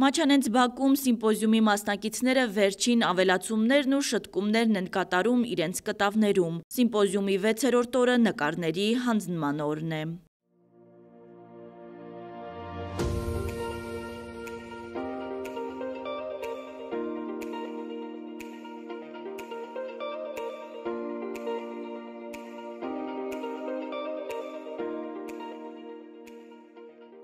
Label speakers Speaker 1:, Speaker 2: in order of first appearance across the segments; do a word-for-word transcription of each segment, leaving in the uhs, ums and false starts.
Speaker 1: Մաչանենց Բաքում սիմպոզիումի մասնակիցները վերջին ավելացումներն ու շտկումներն են կատարում իրենց կտավներում։ Սիմպոզիումի վեցերորդ օրը նկարների հանձնման օրն է։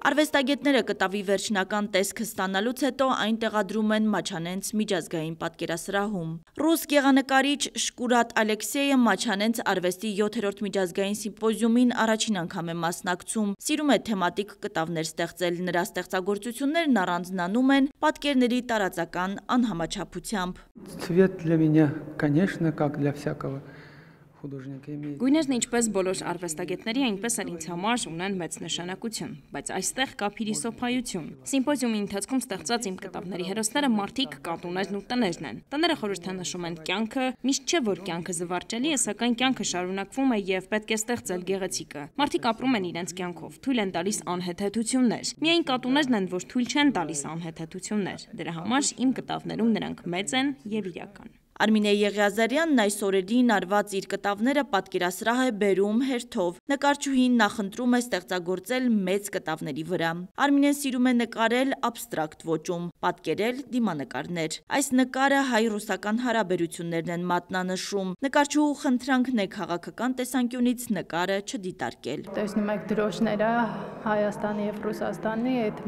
Speaker 1: Արվեստագետները կտավի վերջնական տեսքը ստանալուց հետո այն տեղադրում են Մաչանենց միջազգային պատկերասրահում։ Ռուս գեղանկարիչ Շկուրատ Ալեքսեյը Մաչանենց արվեստի յոթերորդ միջազգային սիմպոզիումին առաջին անգամ է մասնակցում։ Սիրում է թեմատիկ կտավներ ստեղծել, նրա ստեղծագործություններն առանձնանում են պատկերների տարածական անհամաչափությամբ։
Speaker 2: Цвет для меня, конечно, как для всякого.
Speaker 3: Գույներն ինչպես բոլոր արվեստագետների, այնպես էլ ինձ համար ունեն մեծ նշանակություն, բայց այստեղ կա փիլիսոփայություն։ Սիմպոզիումի ընթացքում ստեղծած իմ կտավների հերոսները մարդիկ, կատուներն ու տներն են։ Տները խորհրդանշում են կյանքը, միշտ չէ, որ կյանքը զվարճելի է, սակայն կյանքը շարունակվում է եւ պետք է ստեղծել գեղեցիկը։ Մարդիկ ապրում են իրենց կյանքով, թույլ են տալիս անհեթեթություններ։ Միայն կատուներն են, որ թույլ չեն տալիս անհեթեթություններ։ Դրա համար իմ կտավներում նրանք մեծ են եւ իրական։
Speaker 1: Արմինե Եղիազարյանն այս օրերին արված իր կտավները պատկերասրահ է բերում հերթով։ Նկարչուհին նախընտրում է ստեղծագործել մեծ կտավների վրա։ Արմինեն սիրում է նկարել աբստրակտ ոճում, պատկերել դիմանկարներ։ Այս նկարը հայ-ռուսական հարաբերություններն են մատնանշում։ Նկարչուհու խնդրանքն է քաղաքական տեսանկյունից նկարը չդիտարկել։
Speaker 4: Տեսնում եք դրոշները Հայաստանի եւ Ռուսաստանի այդ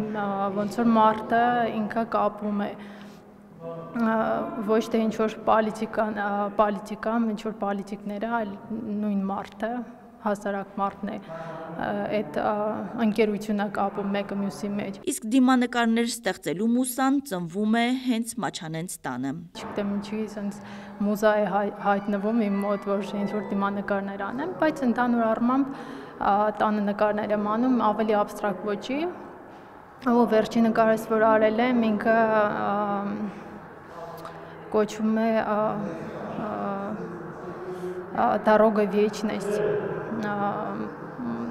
Speaker 4: ոնց որ մարդը ինքը կապում է ոչ թե ինչ-որ պոլիտիկան, պոլիտիկան, ինչ-որ պոլիտիկները, այլ նույն մարդը, հասարակ մարդն է, այդ ընկերությունը կապում մեկը մյուսի մեջ։
Speaker 1: Իսկ դիմանկարներ ստեղծելու մուսան ծնվում է հենց Մաչանենց տանը։
Speaker 4: Չգիտեմ ինչի sense մուզա է հայտնվում իմ մոտ, որ ինչ-որ դիմանկարներ անեմ, բայց ընդհանուր առմամբ տանը նկարներ եմ անում ավելի աբստրակտ ոճի, ու վերջի նկարս, որ արել եմ, ինքը կոչվում է «Дорога вечность»,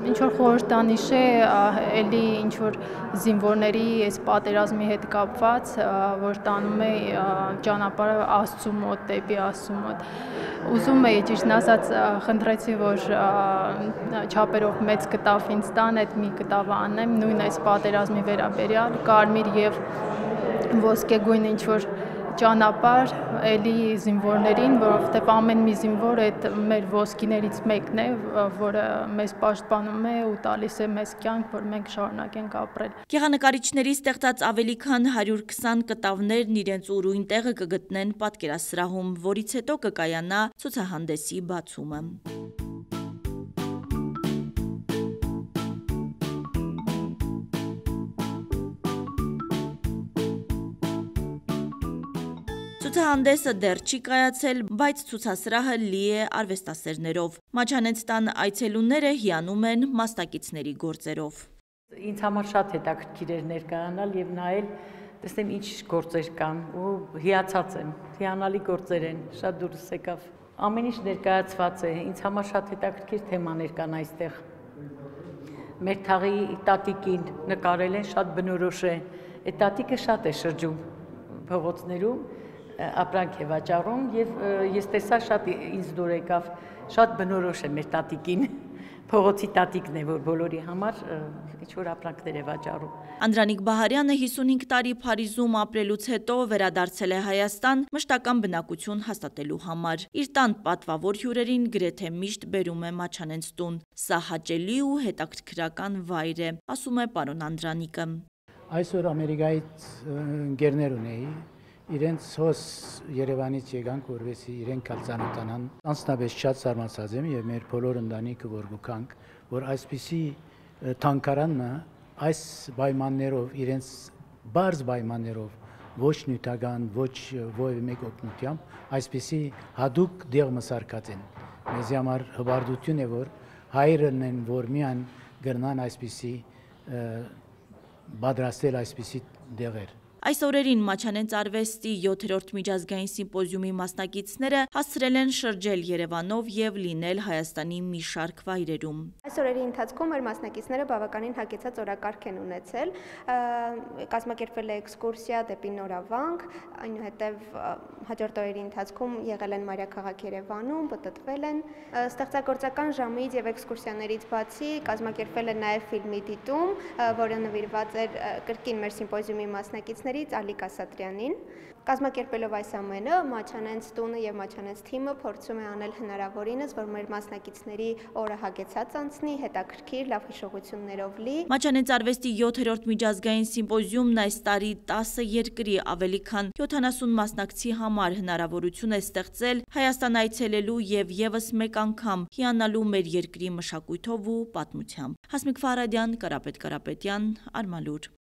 Speaker 4: ինչ-որ խորհրդանիշ է, էլի ինչ-որ զինվորների այս պատերազմի հետ կապված, որ տանում է ճանապարհը Աստծու մոտ, դեպի Աստծու մոտ։ Ուզում էի, ճիշտն ասած, խնդրեցի, որ չափերով մեծ կտավ ինձ տան, այդ մի կտավ անեմ, նույն այս պատերազմի վերաբերյալ, կարմիր եւ ոսկեգույն ինչ-որ ճանապարհ էլի զինվորներին, որովհետև ամեն մի զինվոր այդ մեր ոսկիներից մեկն է, որը մեզ պաշտպանում է ու տալիս է մեզ կյանք, որ մենք շարունակենք ապրել։
Speaker 1: Գեղանկարիչների ստեղծած ավելի քան հարյուր քսան կտավներն իրենց ուրույն տեղը կգտնեն պատկերասրահում, որից հետո կկայանա ցուցահանդեսի բացումը։ Ցուցահանդեսը դեռ չի կայացել, բայց ցուցասրահը լի է արվեստասերներով։ Մաչանենց տան այցելուները հիանում են մասնակիցների գործերով։
Speaker 5: Ինձ համար շատ հետաքրքիր էր ներկայանալ եւ նայել, տեսնեմ ինչ գործեր կան ու հիացած եմ։ Հիանալի գործեր են, շատ դուրս եկավ։ Ամեն ինչ ներկայացված է, ինձ համար շատ հետաքրքիր թեմաներ կան այստեղ։ Մեր թաղի տատիկին նկարել են, շատ բնորոշ է։ Այդ տատիկը շատ է շրջում փողոցներում, ապրանք է վաճառում եւ ես տեսա շատ ինձ դուր եկավ, շատ բնորոշ է մեր տատիկին, փողոցի տատիկն է, որ բոլորի համար ինչ-որ ապրանքներ է վաճառում։
Speaker 1: Անդրանիկ Բահարյանը հիսունհինգ տարի Փարիզում ապրելուց հետո վերադարձել է Հայաստան մշտական բնակություն հաստատելու համար։ Իր տան պատվավոր հյուրերին գրեթե միշտ բերում է Մաչանենց տուն։ Սա հաճելի ու հետաքրքրական վայր է, ասում է պարոն Անդրանիկը։
Speaker 6: Այսօր Ամերիկայից ընկերներ ունեի, իրենց հոս Երևանից եկանք, որովհետեւ իրենք ծանոթանան։ Անձնապես շատ զարմացած եմ եւ մեր բոլոր ընտանիքը որ գուքանք, որ այսպիսի թանկարանը այս պայմաններով իրենց բարձ պայմաններով ոչ նյութական, ոչ ովի մեկ օգնությամբ այսպիսի հadouk դեղ մսարկած են։ Մեզ համար հբարդություն է, որ հայրն են, որ միան գրնան այսպիսի պատրաստել այսպիսի դեղեր։
Speaker 1: Այս օրերին Մաչանենց արվեստի յոթերորդ միջազգային սիմպոզիումի մասնակիցները հասցրել են շրջել Երևանով եւ լինել Հայաստանի մի շարք վայրերում։
Speaker 7: Այս օրերի ընթացքում մեր մասնակիցները բավականին հագեցած օրակարգ են ունեցել, կազմակերպվել է էքսկուրսիա դեպի Նորավանք, այնուհետև հաջորդ օրերի ընթացքում եղել են մայրաքաղաք Երևանում, պտտվել են, ստեղծագործական ժամից եւ էքսկուրսիաներից բացի կազմակերպվել է նաեւ ֆիլմի դիտում, որը նվիրված էր կրկին մեր սիմպոզիումի մասնակիցներից Ալիկ Ասատրյանին։ Կազմակերպելով այս ամենը, Մաչանենց տունը եւ Մաչանենց թիմը փորձում է անել հնարավորինս, որ մեր մասնակիցների օրը հագեցած անցնի, հետաքրքիր, լավ հիշողություններով լի։
Speaker 1: Մաչանենց արվեստի յոթերորդ միջազգային սիմպոզիումն այս տարի տասը երկրի ավելի քան յոթանասուն մասնակցի համար հնարավորություն է ստեղծել Հայաստան այցելելու եւ եւս մեկ անգամ հիանալու մեր երկրի մշակույթով ու պատմությամբ։ Հասմիկ Ֆարադյան, Կարապետ Կարապետյան, Արմալուր։